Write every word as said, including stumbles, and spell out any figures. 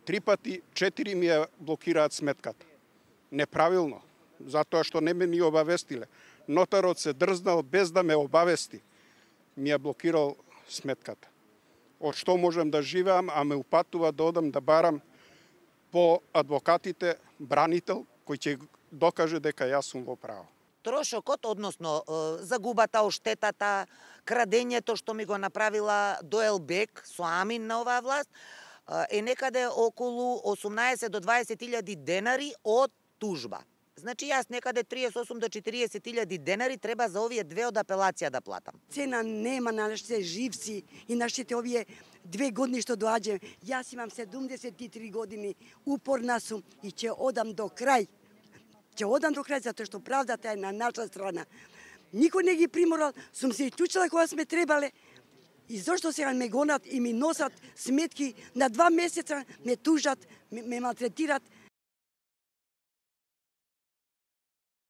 Три пати, четири ми ја блокираат сметката. Неправилно, затоа што не ме ни обавестиле. Нотарот се дрзнал без да ме обавести. Ми ја блокирал сметката. Од што можам да живеам, а ме упатува да одам да барам по адвокатите бранител кој ќе докаже дека јас сум во право. Трошокот, односно загубата, оштетата, крадењето што ми го направила Доелбек со амин на оваа власт, е некаде околу осумнаесет до дваесет илјади денари од тужба. Значи јас некаде триесет и осум до четириесет илјади денари треба за овие две од апелација да платам. Цена нема на нашите живци и нашите овие две години што доаѓаме. Јас имам седумдесет и три години, упорна сум и ќе одам до крај. Ќе одам до крај затоа што правдата е на наша страна. Никој не ги приморал, сум се исклучила кога сме требале. И зошто сега ме гонат и ми носат сметки на два месеца, ме тужат, ме, ме малтретират,